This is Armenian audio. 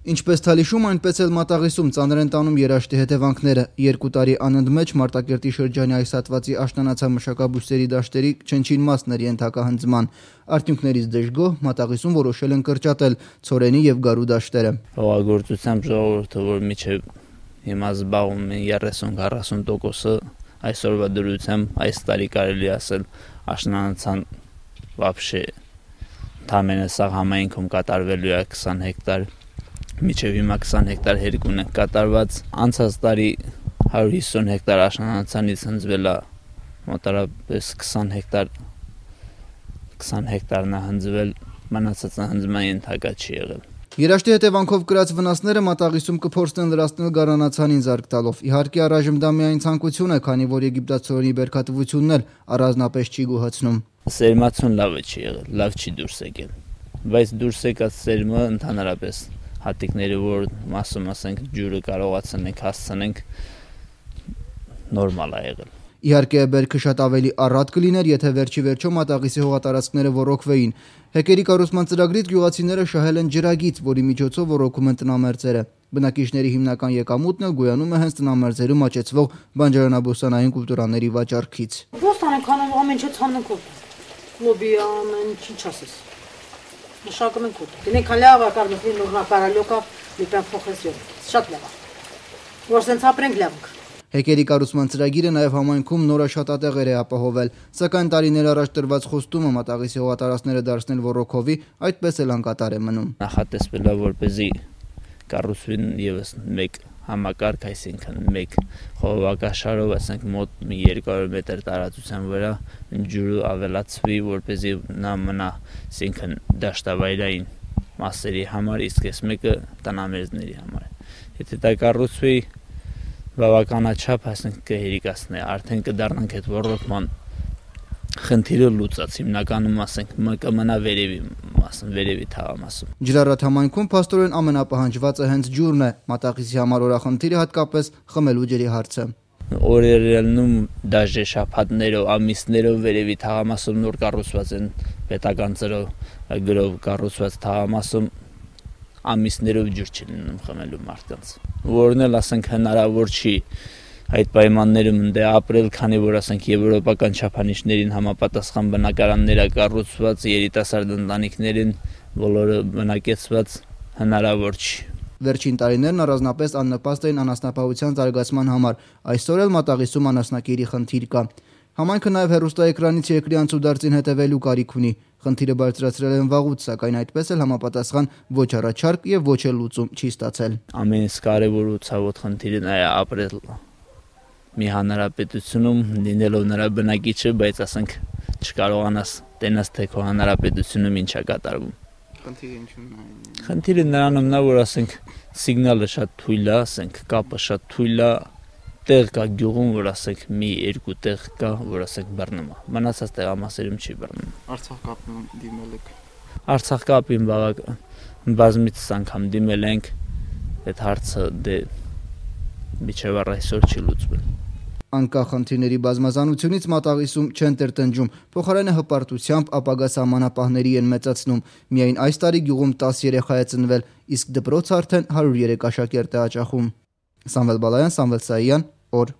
Ինչպես Թալիշում, այնպես էլ Մատաղիսում ծանր են տանում երաշտի հետևանքները։ 2 տարի անընդմեջ Մարտակերտի շրջանի այս հատվածի աշնանացամշակաբույսերի դաշտերի չնչին մասն էր ենթակահանձման։ Արդյունքներից դժգոհ Մատաղիսում որոշել են կրճատել ցորենի եւ գարու դաշտերը։ Հողագործությամբ ժողովուրդը, որ միջև հիմա զբաղվում են 30-40%-ը, այսօրվա դրությամբ այս տարի կարելի ասել աշնանացան вообще թամենը սա համայնքում կատարվելու է 20 հեկտար, միջև հիմա 20 հեկտար հերկուն է կատարված, անցած տարի 150 հեկտար աշնանացանից հնձվել է մոտարապես 20 հեկտարն է հնձվել, մնացածը հնձման ենթակա չի եղել։ Երաշտի հետևանքով կրած վնասները Մատաղիսում կփորձեն լրացնել գարանացանին զարկ տալով։ Իհարկե առայժմ դա միայն ցանկություն է, քանի որ եգիպտացորենի բերքատվությունն էլ առանձնապես չի գոհացնում։ Սերմացուն լավը չի եղել, լավ չի դուրս եկել, բայց դուրս եկած սերմը ընդհանրապես հատիկները, որ մասում ասենք ջուրը կարողացնենք հասցնենք, նորմալ է եղել։ Իհարկե բերքը շատ ավելի առատ կլիներ, եթե վերջի վերջո Մատաղիսի հողատարածքները ոռոգվեին։ Հեկերի կառուցման ծրագրից գյուղացիները շահել են ջրագիծ, որի միջոցով ոռոգում են տնամերձերը։ Բնակիչների հիմնական եկամուտն էլ գոյանում է հենց տնամերձերում աճեցվող բանջարանաբուսանային կուլտուրաների վաճառքից։ Ոստանենք անում ամեն ինչ ցանենք օդ։ Լոբի ամեն ինչ ասես։ Մշակում ենք օդ։ Դինենք լավ ակարդոֆի նորմակարալյոկա լիպան փոխեսյոն։ Շատ լավ։ Որ սենց ապրենք լավ։ Հեկերի կառուցման ծրագիրը նաև համայնքում նոր աշխատատեղեր է ապահովել, սակայն տարիներ առաջ տրված խոստումը Մատաղիսի հողատարածքները դարձնել ոռոգովի այդպես էլ անկատար է մնում։ Նախատեսվել է, որպեսզի կառուցվի ևս մեկ համակարգ, այսինքն մեկ խողովակաշարով, ասենք մոտ 200 մետր տարածության վրա ջուրը ավելացվի, որպեսզի նա մնա, այսինքն դաշտավայրային մասերի համար, իսկ այս մեկը տնամերձների համար։ Եթե դա կառուցվի բավականաչափ, ասենք կհերիկացնի, արդեն կդառնանք այդ ոռոգման խնդիրը լուծած, հիմնականում ասենք կմնա վերևի թաղամասում։ Ջրառատ համայնքում փաստորեն ամենապահանջվածը հենց ջուրն է, Մատաղիսի համար օրախնդիրը հատկապես խմելու ջրի հարցը։ Օրերելնում դաժե շաբաթներով, ամիսներով վերևի թաղամասում նոր կառուցված են պետական ծրագրով կառուցված թաղամասում ամիսներով ջուր չի լինում խմելու մարդկանց, որն էլ ասենք հնարավոր չի այդ պայմաններում դե ապրել, քանի որ ասենք եվրոպական չափանիշներին համապատասխան բնակարաններ կառուցված, երիտասարդ ընտանիքներին բոլորը բնակեցված հնարավոր չի։ Վերջին տարիներն առանձնապես աննպաստ էին անասնապահության զարգացման համար, այսօր էլ Մատաղիսում անասնակերի խնդիր կա։ Համայնքը նաև հեռուստաէկրանից երկրի անցուդարձին հետևելու կարիք ունի։ Խնդիրը բարձրացրել են վաղուց, սակայն այդպես էլ համապատասխան ոչ առաջարկ եւ ոչ էլ լուծում չի ստացել։ Ամենից կարևոր ու ցավոտ խնդիրն է ապրել մի հանրապետությունում, լինելով նրա բնակիչը, բայց ասենք չկարողանաս տենաս թե քո հանրապետությունում ինչ է կատարվում։ Խնդիրը ինչու՞մն է։ Խնդիրը նրանում նա, որ ասենք սիգնալը շատ թույլ է, ասենք կապը շատ թույլ է, տեղ կա գյուղում, որ ասենք մի երկու տեղ կա, որ ասենք բռնում է։ Մնացած տեղամասերում չի բռնում։ Արցախ կապին դիմել եք։ Արցախ կապին բազմիցս անգամ դիմել ենք, այդ հարցը դե միջև այսօր չի լուծվել։ Անկախ խնդիրների բազմազանությունից Մատաղիսում չեն տրտնջում, փոխարենը հպարտությամբ ապագա սահմանապահների են մեծացնում։ Միայն այս տարի գյուղում 10 երեխա է ծնվել, իսկ դպրոցը արդեն 103 աշակերտ է հաճախում։ Սամվել Բալայան, Սամվել Սայան, օր